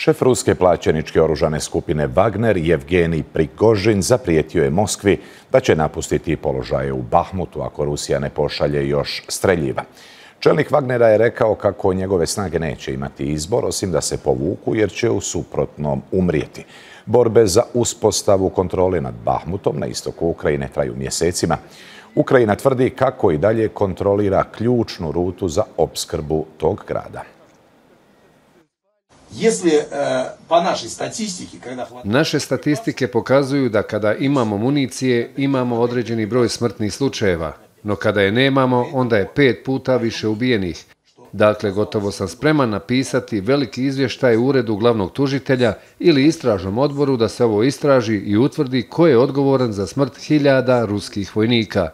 Šef ruske plaćeničke oružane skupine Wagner, Jevgenij Prigožin, zaprijetio je Moskvi da će napustiti položaje u Bahmutu ako Rusija ne pošalje još streljiva. Čelnik Wagnera je rekao kako njegove snage neće imati izbor, osim da se povuku jer će u suprotnom umrijeti. Borbe za uspostavu kontrole nad Bahmutom na istoku Ukrajine traju mjesecima. Ukrajina tvrdi kako i dalje kontrolira ključnu rutu za opskrbu tog grada. Naše statistike pokazuju da kada imamo municije, imamo određeni broj smrtnih slučajeva, no kada je nemamo, onda je 5 puta više ubijenih. Dakle, gotovo sam spreman napisati veliki izvještaj u uredu glavnog tužitelja ili istražnom odboru da se ovo istraži i utvrdi ko je odgovoran za smrt hiljada ruskih vojnika.